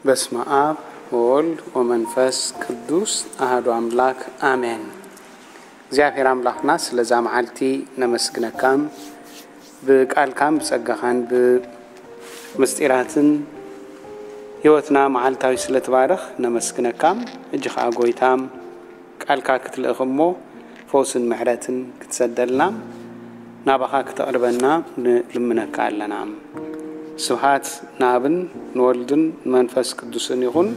በስመ አብ ወወልድ ወመንፈስ ቅዱስ አሐዱ አምላክ አሜን። እግዚኣብሔር አምላክና ስለዛ መዓልቲ ነመስግነካም፣ ብቃልካን ብጸጋኻን ብምስጢራትን ህይወትና መዓልታዊ ስለትባርኽ ነመስግነካም። እጂ ኸዓ ጎይታም ቃልካ ክትልእኽ እሞ ፈውስን ምሕረትን ክትሰደልና ናባኻ ክተቕርበና ንልምነካ ኣለና። ስብሃት ንኣብን ንወልድን ንመንፈስ ቅዱስን ይኹን።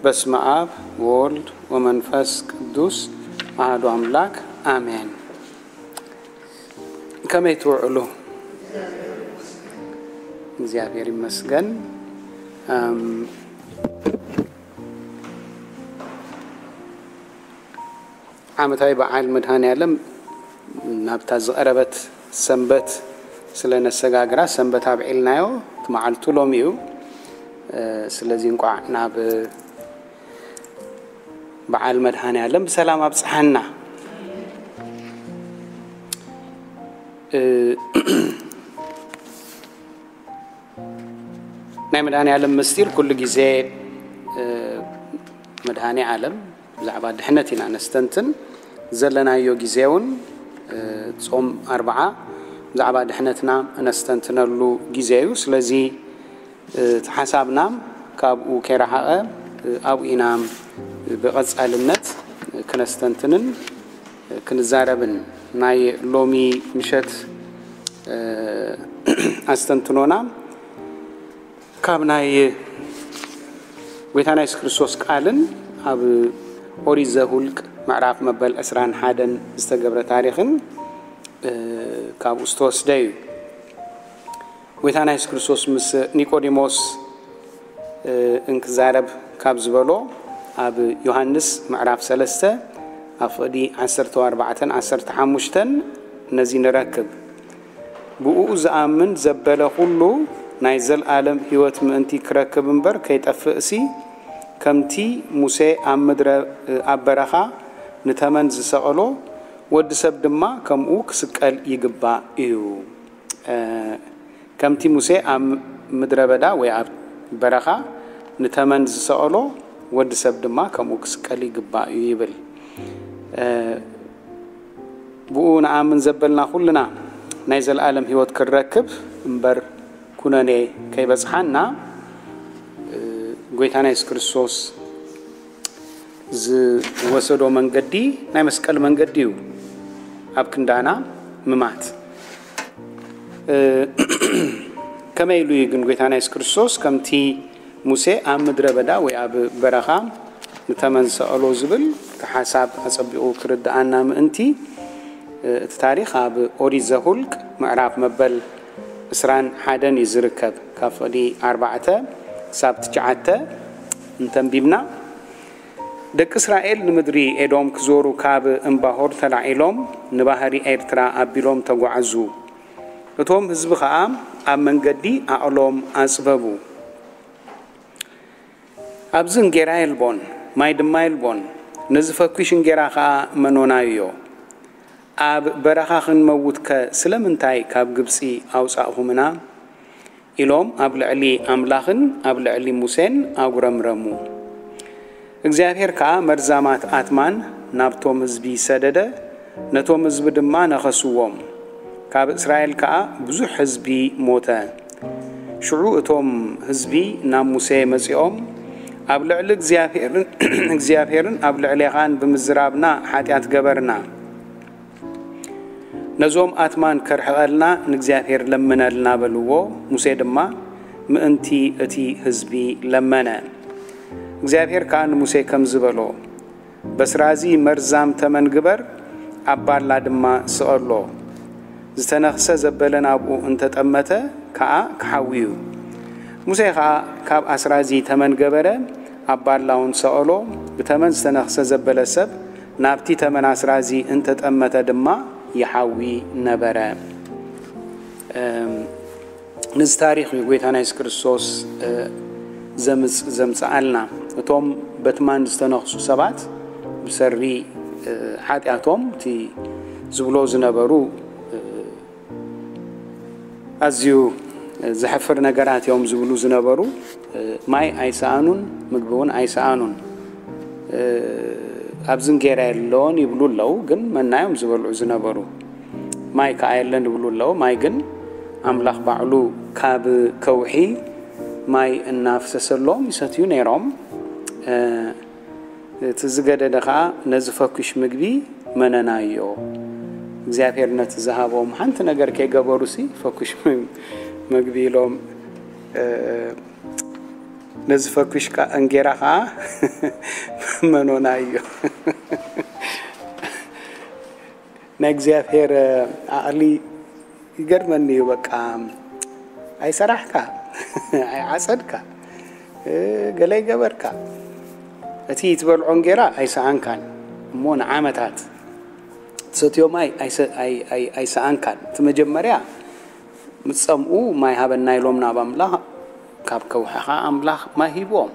በስመ አብ ወወልድ ወመንፈስ ቅዱስ አሐዱ አምላክ አሜን። ከመይ ትውዕሉ? እግዚኣብሔር ይመስገን። ዓመታዊ በዓል መድኃኔ ዓለም ናብታ ዝቐረበት ሰንበት ስለ ነሰጋግራ ሰንበት ኣብዒልናዮ። እቲ መዓልቱ ሎሚ እዩ። ስለዚ እንቋዕ ናብ በዓል መድኃኔ ዓለም ብሰላም ኣብጽሓና። ናይ መድኃኔ ዓለም ምስጢር ኩሉ ግዜ መድኃኔ ዓለም ብዛዕባ ድሕነት ኢና ነስተንትን። ዘለናዮ ግዜ እውን ጾም ኣርብዓ ብዛዕባ ድሕነትና ነስተንትነሉ ግዜ እዩ። ስለዚ እቲ ሓሳብና ካብኡ ከይረሓቐ ኣብኡ ኢና ብቐጻልነት ክነስተንትንን ክንዛረብን። ናይ ሎሚ ምሸት ኣስተንትኖና ካብ ናይ ጎይታና የሱስ ክርስቶስ ቃልን ኣብ ኦሪት ዘሁልቅ ምዕራፍ መበል ዕስራን ሓደን ዝተገብረ ታሪኽን ካብኡ ዝተወስደ እዩ። ጎይታና የሱስ ክርስቶስ ምስ ኒቆዲሞስ እንክዛረብ ካብ ዝበሎ ኣብ ዮሃንስ ምዕራፍ ሰለስተ ኣብ ፍቕዲ ዓሰርተ ኣርባዕተን ዓሰርተ ሓሙሽተን ነዚ ንረክብ። ብእኡ ዝኣምን ዘበለ ኩሉ ናይ ዘልኣለም ህይወት ምእንቲ ክረክብ እምበር ከይጠፍእሲ፣ ከምቲ ሙሴ ኣብ ምድረ ኣብ በረኻ ንተመን ዝሰቐሎ፣ ወዲ ሰብ ድማ ከምኡ ክስቀል ይግባእ እዩ። ከምቲ ሙሴ ኣብ ምድረ በዳ ወይ ኣብ በረኻ ንተመን ዝሰቐሎ፣ ወዲ ሰብ ድማ ከምኡ ክስቀል ይግባእ እዩ ይብል። ብኡ ንኣምን ዘበልና ኩልና ናይ ዘለኣለም ህይወት ክንረክብ እምበር ኩነኔ ከይበጽሓና፣ ጎይታና የሱስ ክርስቶስ ዝወሰዶ መንገዲ ናይ መስቀል መንገዲ እዩ። ኣብ ክንዳና ምማት። ከመይ ኢሉ እዩ ግን ጎይታና የሱስ ክርስቶስ ከምቲ ሙሴ ኣብ ምድረ በዳ ወይ ኣብ በረኻ ንተመን ዝሰቐሎ ዝብል እቲ ሓሳብ ኣጸቢቑ ክርድኣና ምእንቲ፣ እቲ ታሪኽ ኣብ ኦሪት ዘሁልቅ ምዕራፍ መበል ዕስራን ሓደን እዩ ዝርከብ። ካብ ፍቕዲ ኣርባዕተ ክሳብ ትሽዓተ እንተንቢብና፣ ደቂ እስራኤል ንምድሪ ኤዶም ክዞሩ ካብ እምባሆር ተላዒሎም ንባህሪ ኤርትራ ኣቢሎም ተጓዓዙ። እቶም ህዝቢ ኸኣ ኣብ መንገዲ ዓቕሎም ኣጽበቡ። ኣብዚ እንጌራ የልቦን፣ ማይ ድማ የልቦን፣ ነዚ ፈኲሽ እንጌራ ኸኣ መኖናዮ። ኣብ በረኻ ክንመውትከ ስለምንታይ ካብ ግብጺ ኣውጻእኹምና? ኢሎም ኣብ ልዕሊ ኣምላኽን ኣብ ልዕሊ ሙሴን ኣጉረምረሙ። እግዚኣብሔር ከኣ መርዛማት ኣትማን ናብቶም ህዝቢ ሰደደ፣ ነቶም ህዝቢ ድማ ነኸስዎም። ካብ እስራኤል ከኣ ብዙሕ ህዝቢ ሞተ። ሽዑ እቶም ህዝቢ ናብ ሙሴ መጺኦም፣ ኣብ ልዕሊ እግዚኣብሔርን፣ እግዚኣብሔርን ኣብ ልዕሌኻን ብምዝራብና ሓጢኣት ገበርና። ነዞም ኣትማን ከርሕቐልና ንእግዚኣብሔር ለምነልና በልዎ። ሙሴ ድማ ምእንቲ እቲ ህዝቢ ለመነ። እግዚኣብሔር ከኣ ንሙሴ ከምዚ በሎ፣ በስራዚ መርዛም ተመን ግበር፣ ኣብ ባላ ድማ ስቐሎ። ዝተነኽሰ ዘበለ ናብኡ እንተጠመተ ከኣ ክሓዊ እዩ። ሙሴ ኸኣ ካብ ኣስራዚ ተመን ገበረ፣ ኣብ ባላ እውን ሰቐሎ። ብተመን ዝተነኽሰ ዘበለ ሰብ ናብቲ ተመን ኣስራዚ እንተጠመተ ድማ ይሓዊ ነበረ። እም፣ ነዚ ታሪኽ እዩ ጎይታና የሱስ ክርስቶስ፣ እ፣ ዘምጽ-፣ ዘምጽኣልና። እቶም በትማን ዝተነኽሱ ሰባት ብሰሪ፣ እ፣ ሓጢኣቶም እቲ ዝብሎ ዝነበሩ፣ እ፣ ኣዝዩ ዘሕፍር ነገራት እዮም ዝብሉ ዝነበሩ። ማይ ኣይሰኣኑን፣ ምግቢ እውን ኣይሰኣኑን። ኣብዚ እንጌራ የለዎን ይብሉ ኣለዉ፣ ግን መና እዮም ዝበልዑ ዝነበሩ። ማይ ከኣ የለን ይብሉ ኣለዉ። ማይ ግን ኣምላኽ ባዕሉ ካብ ከውሒ ማይ እናፍሰሰሎም ይሰትዩ ነይሮም። እቲ ዝገደደ ኸዓ ነዚ ፈኲሽ ምግቢ መነናዮ። እግዚኣብሔር ነቲ ዝሃቦም ሓንቲ ነገር ከይገበሩሲ ፈኲሽ ምግቢ ኢሎም፣ ነዚ ፈኲሽ እንጌራ ኸዓ መኖናዮ። ናይ እግዚኣብሔር ዓቕሊ ይገርመኒ እዩ። በቃ ኣይሰራሕካ፣ ኣይዓጸድካ፣ ገለ ይገበርካ፣ እቲ ትበልዖ እንጌራ ኣይሰኣንካን እሞ ንዓመታት ትሰትዮ ማይ ኣይሰኣንካን። እቲ መጀመርያ ምስ ጸምኡ ማይ ሃበና ኢሎም ናብ ኣምላኽ፣ ካብ ከውሒ ኸዓ ኣምላኽ ማይ ሂብዎም።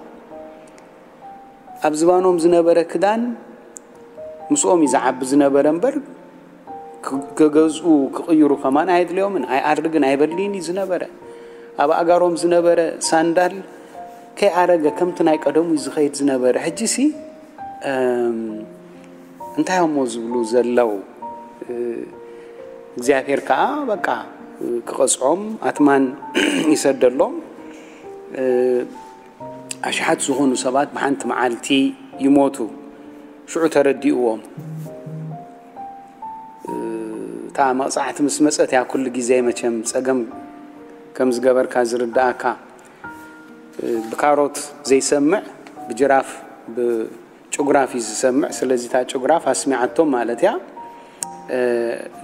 ኣብ ዝባኖም ዝነበረ ክዳን ምስኦም እዩ ዝዓቢ ዝነበረ እምበር፣ ክገዝኡ ክቕይሩ ከማን ኣየድልዮምን። ኣይኣርግን ኣይበልይን እዩ ዝነበረ። ኣብ ኣእጋሮም ዝነበረ ሳንዳል ከይኣረገ ከምቲ ናይ ቀደሙ እዩ ዝኸይድ ዝነበረ። ሕጂሲ እንታይ እሞ ዝብሉ ዘለዉ? እግዚኣብሔር ከዓ በቃ ክቐጽዖም ኣትማን ይሰደሎም። ኣሽሓት ዝኾኑ ሰባት ብሓንቲ መዓልቲ ይሞቱ። ሽዑ ተረዲእዎም። እታ መቕጻዕቲ ምስ መጸት እያ ኩሉ ግዜ መቸም ጸገም ከም ዝገበርካ ዝርድኣካ። ብካሮት ዘይሰምዕ ብጅራፍ ብጭጉራፍ እዩ ዝሰምዕ። ስለዚ እታ ጭጉራፍ ኣስሚዓቶም ማለት እያ።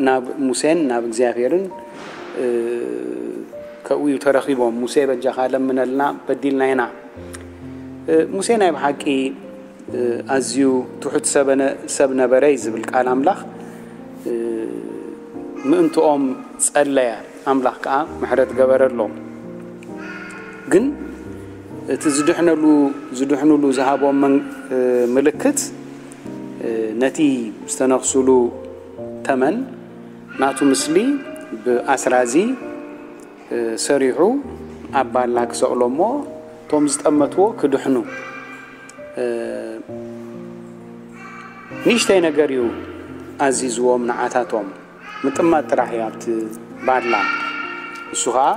ናብ ሙሴን ናብ እግዚኣብሔርን ከብኡ ተረኺቦም። ሙሴ በጃኻ ለምነልና በዲልና ኢና። ሙሴ ናይ ብሓቂ ኣዝዩ ትሑት ሰብ ነበረ እዩ ዝብል ቃል ኣምላኽ። ምእንትኦም ጸለየ፣ ኣምላኽ ከኣ ምሕረት ገበረሎም። ግን እቲ ዝድሕነሉ ዝድሕኑሉ ዝሃቦም ምልክት ነቲ ዝተነኽሱሉ ተመን ናቱ ምስሊ ብኣስራዚ ሰሪሑ ኣብ ባላ ክሰቕሎ እሞ እቶም ዝጠመትዎ ክድሕኑ። ንእሽተይ ነገር እዩ ኣዚዝዎም ንዓታቶም። ምጥማት ጥራሕ እዩ ኣብቲ ባላ። ንሱ ኸዓ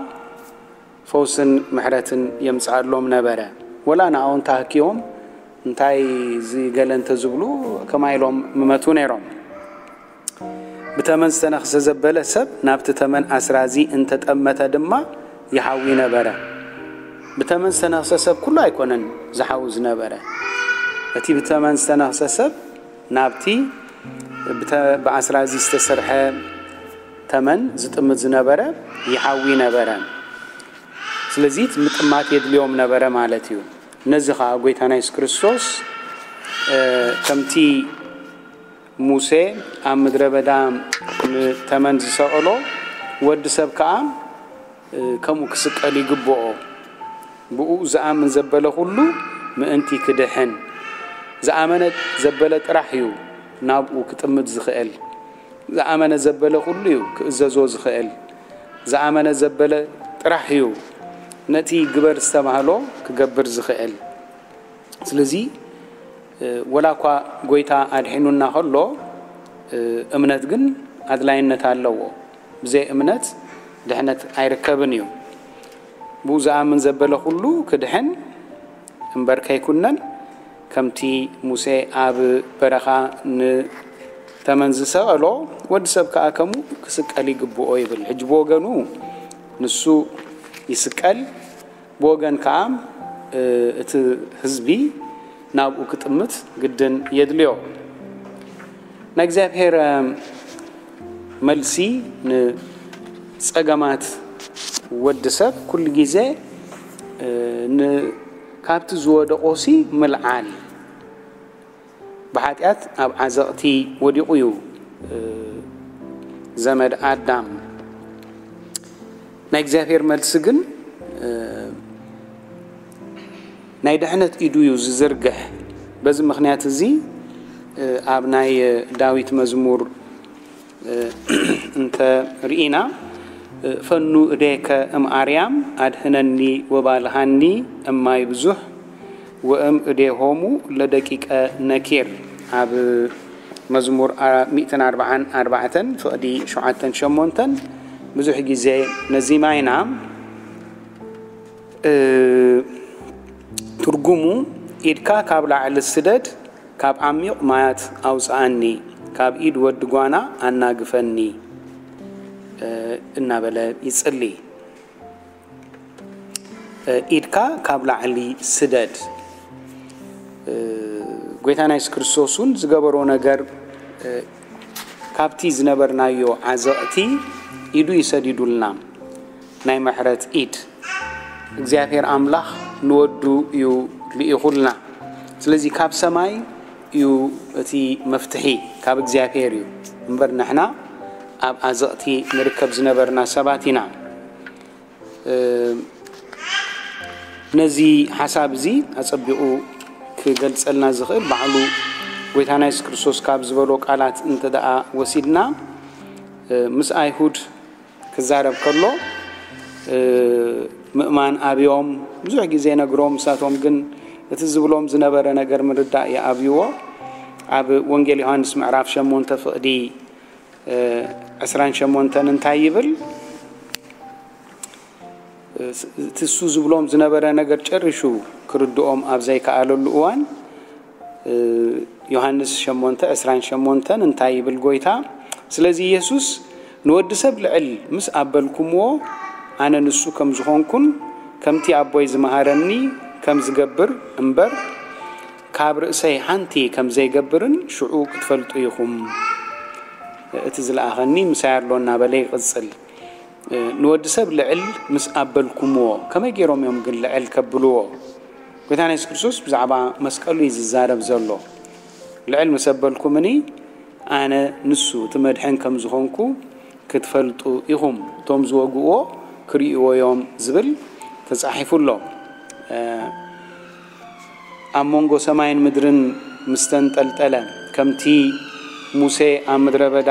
ፈውስን ምሕረትን የምጽኣሎም ነበረ። ወላ ንኣኡ እንተሃክዮም እንታይ እዚ ገለ እንተዝብሉ ከማይ ኢሎም ምመቱ ነይሮም። ብተመን ዝተነኽሰ ዘበለ ሰብ ናብቲ ተመን ኣስራዚ እንተጠመተ ድማ ይሓዊ ነበረ። ብተመን ዝተነኽሰ ሰብ ኩሉ ኣይኮነን ዝሓዊ ዝነበረ። እቲ ብተመን ዝተነኽሰ ሰብ ናብቲ ብኣስራዚ ዝተሰርሐ ተመን ዝጥምት ዝነበረ ይሓዊ ነበረ። ስለዚ ምጥማት የድልዮም ነበረ ማለት እዩ። ነዚ ኸዓ ጐይታና የሱስ ክርስቶስ ከምቲ ሙሴ ኣብ ምድረ በዳ ንተመን ዝሰቐሎ፣ ወዲ ሰብ ከኣ ከምኡ ክስቀል ይግብኦ። ብኡ ዝኣምን ዘበለ ኩሉ ምእንቲ ክድሕን። ዝኣመነ ዘበለ ጥራሕ እዩ ናብኡ ክጥምት ዝኽእል። ዝኣመነ ዘበለ ኩሉ እዩ ክእዘዞ ዝኽእል። ዝኣመነ ዘበለ ጥራሕ እዩ ነቲ ግበር ዝተባህሎ ክገብር ዝኽእል። ስለዚ ወላ እኳ ጐይታ ኣድሒኑና ከሎ፣ እምነት ግን ኣድላይነት ኣለዎ። ብዘይ እምነት ድሕነት ኣይርከብን እዩ። ብኡ ዝኣምን ዘበለ ኩሉ ክድሕን እምበር ከይኩነን፣ ከምቲ ሙሴ ኣብ በረኻ ንተመን ዝሰቐሎ፣ ወዲ ሰብ ከኣ ከምኡ ክስቀል ይግብኦ ይብል። ሕጂ ብወገኑ ንሱ ይስቀል፣ ብወገን ከኣ እቲ ህዝቢ ናብኡ ክጥምት ግድን የድልዮ። ናይ እግዚኣብሔር መልሲ ንጸገማት ወዲ ሰብ ኩሉ ግዜ ን-፣ ካብቲ ዝወደቆሲ ምልዓል። ብሓጢኣት ኣብ ዓዘቕቲ ወዲቑ እዩ ዘመድ ኣዳም። ናይ እግዚኣብሔር መልሲ ግን ናይ ድሕነት ኢዱ እዩ ዝዝርግሕ። በዚ ምኽንያት እዚ ኣብ ናይ ዳዊት መዝሙር እንተ ርኢና፣ ፈኑ እዴከ እም ኣርያም ኣድህነኒ ወባልሃኒ እማይ ብዙሕ ወእም እዴሆሙ ለደቂቀ ነኪር። ኣብ መዝሙር ሚእትን ኣርባዓን ኣርባዕተን ፍቕዲ ሸውዓተን ሸሞንተን ብዙሕ ግዜ ነዚማ ኢና። ትርጉሙ፣ ኢድካ ካብ ላዕሊ ስደድ፣ ካብ ዓሚቕ ማያት ኣውጽኣኒ፣ ካብ ኢድ ወዲ ጓና ኣናግፈኒ እናበለ ይጽሊ። ኢድካ ካብ ላዕሊ ስደድ። ጎይታና የሱስ ክርስቶስ እውን ዝገበሮ ነገር፣ ካብቲ ዝነበርናዮ ዓዘቕቲ ኢዱ ይሰዲዱልና። ናይ ምሕረት ኢድ እግዚኣብሔር ኣምላኽ ንወዱ እዩ ልኢኹልና። ስለዚ ካብ ሰማይ እዩ እቲ መፍትሒ፣ ካብ እግዚኣብሔር እዩ እምበር ንሕና ኣብ ዓዘቕቲ ንርከብ ዝነበርና ሰባት ኢና። ነዚ ሓሳብ እዚ ኣጸቢቑ ክገልጸልና ዝኽእል ባዕሉ ጎይታና የሱስ ክርስቶስ ካብ ዝበሎ ቃላት እንተ ደኣ ወሲድና፣ ምስ ኣይሁድ ክዛረብ ከሎ፣ ምእማን ኣብዮም ብዙሕ ግዜ ነግሮም፣ ንሳቶም ግን እቲ ዝብሎም ዝነበረ ነገር ምርዳእ ይኣብይዎ። ኣብ ወንጌል ዮሃንስ ምዕራፍ ሸሞንተ ፍቕዲ ዕስራን ሸሞንተን እንታይ ይብል? እቲ እሱ ዝብሎም ዝነበረ ነገር ጨሪሹ ክርድኦም ኣብ ዘይከኣለሉ እዋን፣ ዮሃንስ ሸሞንተ ዕስራን ሸሞንተን እንታይ ይብል ጎይታ? ስለዚ ኢየሱስ፣ "ንወዲ ሰብ ልዕል ምስ ኣበልኩምዎ፣ ኣነ ንሱ ከም ዝኾንኩን ከምቲ ኣቦይ ዝመሃረኒ ከም ዝገብር እምበር፣ ካብ ርእሰይ ሓንቲ ከም ዘይገብርን ሽዑ ክትፈልጡ ኢኹም። እቲ ዝለኣኸኒ ምሳይ ኣሎ" እናበለ ይቕጽል። ንወዲ ሰብ ልዕል ምስ ኣበልኩምዎ፣ ከመይ ገይሮም እዮም ግን ልዕል ከብልዎ? ጎይታና የሱስ ክርስቶስ ብዛዕባ መስቀሉ እዩ ዝዛረብ ዘሎ። "ልዕል ምስ ኣበልኩምኒ፣ ኣነ ንሱ እቲ መድሕን ከም ዝኾንኩ ክትፈልጡ ኢኹም። እቶም ዝወግእዎ ክርእይዎ እዮም" ዝብል ተጻሒፉ ኣሎ። ኣብ መንጎ ሰማይን ምድርን ምስ ተንጠልጠለ፣ ከምቲ ሙሴ ኣብ ምድረ በዳ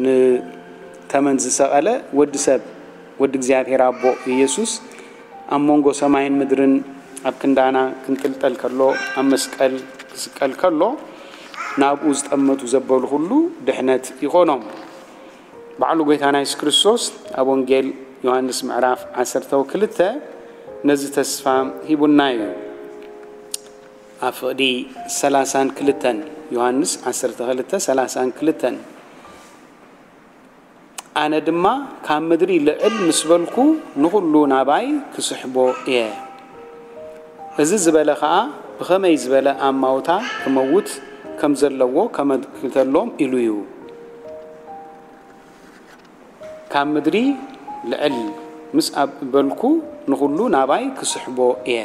ንተመን ዝሰቐለ፣ ወዲ ሰብ፣ ወዲ እግዚኣብሔር ኣቦ ኢየሱስ ኣብ መንጎ ሰማይን ምድርን ኣብ ክንዳና ክንጥልጠል ከሎ፣ ኣብ መስቀል ክስቀል ከሎ፣ ናብኡ ዝጠመቱ ዘበሉ ኩሉ ድሕነት ይኾኖም። ባዕሉ ጎይታና የሱስ ክርስቶስ ኣብ ወንጌል ዮሃንስ ምዕራፍ ዓሰርተ ክልተ ነዚ ተስፋ ሂቡና እዩ። ኣብ ፍቕዲ ሰላሳን ክልተን፣ ዮሃንስ ዓሰርተ ክልተ ሰላሳን ክልተን፣ "ኣነ ድማ ካብ ምድሪ ልዕል ምስ በልኩ፣ ንኹሉ ናባይ ክስሕቦ እየ። እዚ ዝበለ ኸኣ ብኸመይ ዝበለ ኣማውታ ክመውት ከም ዘለዎ ከመልክተሎም ኢሉ እዩ። ካብ ምድሪ ልዕል ምስ ኣብ-፣ በልኩ፣ ንኹሉ ናባይ ክስሕቦ እየ።"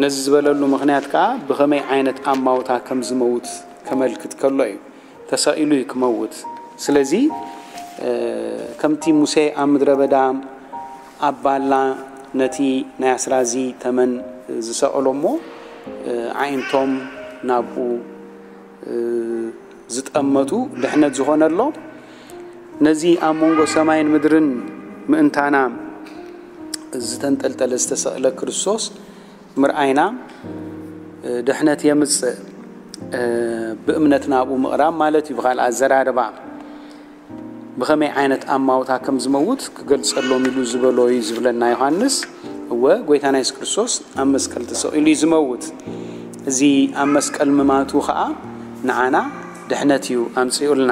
ነዚ ዝበለሉ ምኽንያት ከኣ ብኸመይ ዓይነት ኣማውታ ከም ዝመውት ከመልክት ከሎ እዩ። ተሰቒሉ እዩ ክመውት። ስለዚ፣ እ፣ ከምቲ ሙሴ ኣብ ምድረ በዳ ኣብ ባላ ነቲ ናይ ኣስራዚ ተመን ዝሰቐሎ እሞ፣ እ፣ ኣዒንቶም ናብኡ፣ እ፣ ዝጠመቱ ድሕነት ዝኾነሎም፣ ነዚ ኣብ መንጎ ሰማይን ምድርን ምእንታና ዝተንጠልጠለ ዝተሰቕለ ክርስቶስ ምርኣይና፣ እ፣ ድሕነት የምጽእ። እ፣ ብእምነት ናብኡ ምቕራብ ማለት እዩ። ብኻልእ ኣዘራርባ፣ ብኸመይ ዓይነት ኣማውታ ከም ዝመውት ክገልጸሎም ኢሉ ዝበሎ እዩ ዝብለና ዮሃንስ። እወ፣ ጎይታና የሱስ ክርስቶስ ኣብ መስቀል ተሰቒሉ እዩ ዝመውት። እዚ ኣብ መስቀል ምማቱ ኸኣ ንዓና ድሕነት እዩ ኣምጺኡልና።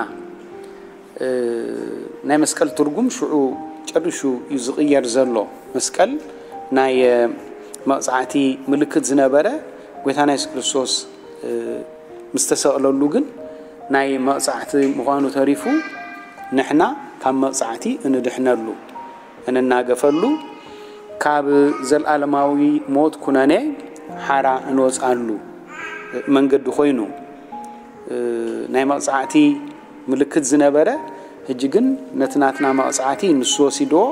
እ፣ ናይ መስቀል ትርጉም ሽዑ ጨሪሹ እዩ ዝቕየር ዘሎ። መስቀል ናይ፣ እ፣ መቕጻዕቲ ምልክት ዝነበረ፣ ጎይታና የሱስ ክርስቶስ፣ እ፣ ምስ ተሰቕለሉ ግን ናይ መቕጻዕቲ ምዃኑ ተሪፉ፣ ንሕና ካብ መቕጻዕቲ እንድሕነሉ፣ እንናገፈሉ፣ ካብ ዘለኣለማዊ ሞት ኩነኔ ሓራ እንወጽኣሉ መንገዲ ኮይኑ፣ እ፣ ናይ መቕጻዕቲ ምልክት ዝነበረ፣ ሕጂ ግን ነቲ ናትና መቕጻዕቲ ንሱ ወሲድዎ፣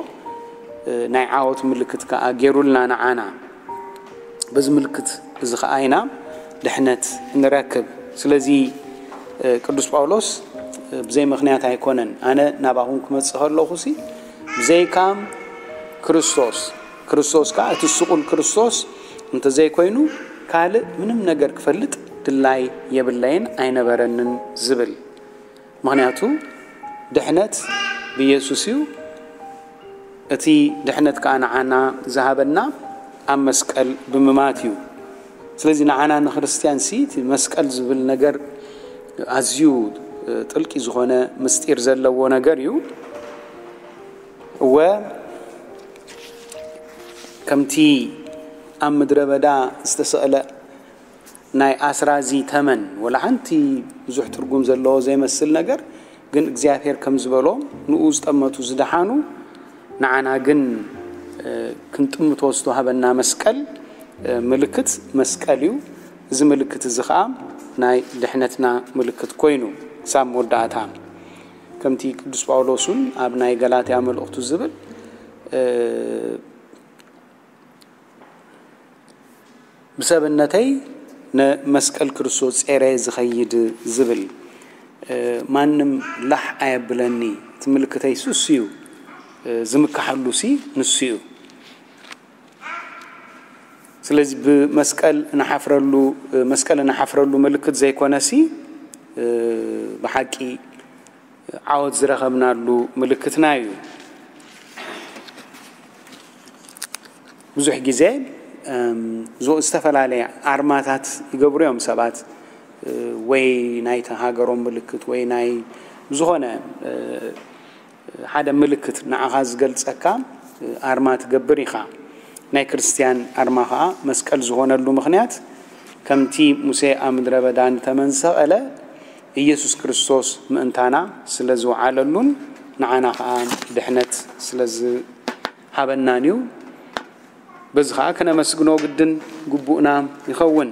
እ፣ ናይ ዓወት ምልክት ከኣ ገይሩልና ንዓና። በዚ ምልክት እዚ ኸኣ ኢና ድሕነት እንረክብ። ስለዚ፣ እ፣ ቅዱስ ጳውሎስ ብዘይ ምኽንያት ኣይኮነን። ኣነ ናባኹም ክመጽእ ከለኹ ሲ ብዘይካም ክርስቶስ፣ ክርስቶስ ከኣ እቲ ስቑል ክርስቶስ እንተዘይኮይኑ ካልእ ምንም ነገር ክፈልጥ ድላይ የብለይን ኣይነበረንን ዝብል። ምኽንያቱ ድሕነት ብኢየሱስ እዩ። እቲ ድሕነት ከኣ ንዓና ዝሃበና ኣብ መስቀል ብምማት እዩ። ስለዚ ንዓና ንክርስትያን ሲ እቲ መስቀል ዝብል ነገር ኣዝዩ ጥልቂ ዝኾነ ምስጢር ዘለዎ ነገር እዩ። እወ ከምቲ ኣብ ምድረ በዳ ዝተሰቕለ ናይ ኣስራዚ ተመን ወላ ሓንቲ ብዙሕ ትርጉም ዘለዎ ዘይመስል ነገር ግን እግዚኣብሔር ከም ዝበሎ ንኡ ዝጠመቱ ዝደሓኑ ንዓና ግን ክንጥምቶ ዝተዋህበና መስቀል ምልክት መስቀል እዩ። እዚ ምልክት እዚ ከዓ ናይ ድሕነትና ምልክት ኮይኑ ክሳብ መወዳእታ ከምቲ ቅዱስ ጳውሎስ እውን ኣብ ናይ ገላትያ መልእኽቱ ዝብል ብሰብነተይ ንመስቀል ክርስቶስ ጼረ ዝኸይድ ዝብል ማንም ላሕ ኣየብለኒ። እቲ ምልክተይ ሱስ እዩ ዝምካሓሉ ሲ ንሱ እዩ። ስለዚ ብመስቀል ንሓፍረሉ መስቀል ንሓፍረሉ ምልክት ዘይኮነሲ ብሓቂ ዓወት ዝረኸብናሉ ምልክትና እዩ። ብዙሕ ግዜ እም፣ ዝ- ዝተፈላለየ ኣርማታት ይገብሩ እዮም ሰባት እ፣ ወይ ናይቲ ሃገሮም ምልክት ወይ ናይ ዝኾነ እ፣ ሓደ ምልክት ንዓኻ ዝገልጸካ እ፣ ኣርማ ትገብር ኢኻ። ናይ ክርስትያን ኣርማ ኸዓ መስቀል ዝኾነሉ ምኽንያት ከምቲ ሙሴ ኣብ ምድረ በዳ ንተመን ዝሰቐለ ኢየሱስ ክርስቶስ ምእንታና ስለ ዝወዓለሉን ንዓና ኸዓ ድሕነት ስለ ዝሃበናን እዩ። በዚ ኸዓ ከነመስግኖ ግድን ግቡእና ይኸውን።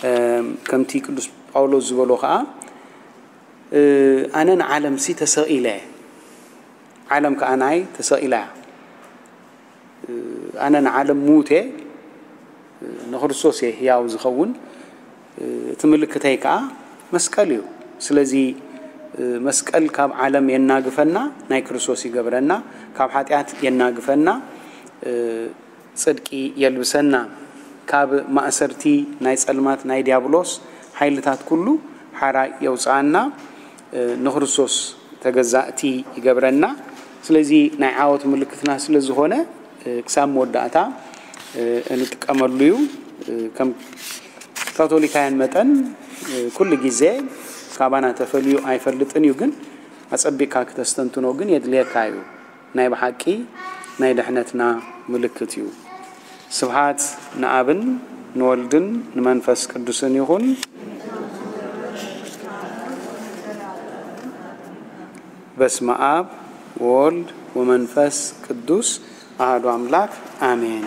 እም፣ ከምቲ ቅዱስ ጳውሎስ ዝበሎ ኸዓ እ፣ ኣነ ንዓለምሲ ተሰቒለ፣ ዓለም ከኣ ናይ ተሰቒላ እያ። ኣነ ንዓለም ሙት እየ፣ ንክርስቶስ እየ ህያው ዝኸውን። እቲ ምልክተይ ከኣ መስቀል እዩ። ስለዚ መስቀል ካብ ዓለም የናግፈና፣ ናይ ክርስቶስ ይገብረና፣ ካብ ሓጢኣት የናግፈና፣ ጽድቂ የልብሰና፣ ካብ ማእሰርቲ ናይ ጸልማት ናይ ዲያብሎስ ሓይልታት ኩሉ ሓራ የውጽኣና፣ ንክርስቶስ ተገዛእቲ ይገብረና። ስለዚ ናይ ዓወት ምልክትና ስለ ዝኾነ ክሳብ መወዳእታ እንጥቀመሉ እዩ። ከም ካቶሊካውያን መጠን ኩሉ ግዜ ካባና ተፈልዩ ኣይፈልጥን እዩ፣ ግን ኣጸቢቕካ ክተስተንትኖ ግን የድልየካ እዩ። ናይ ብሓቂ ናይ ድሕነትና ምልክት እዩ። ስብሓት ንኣብን ንወልድን ንመንፈስ ቅዱስን ይኹን። በስመ ኣብ ወወልድ ወመንፈስ ቅዱስ ኣሐዱ ኣምላክ ኣሜን።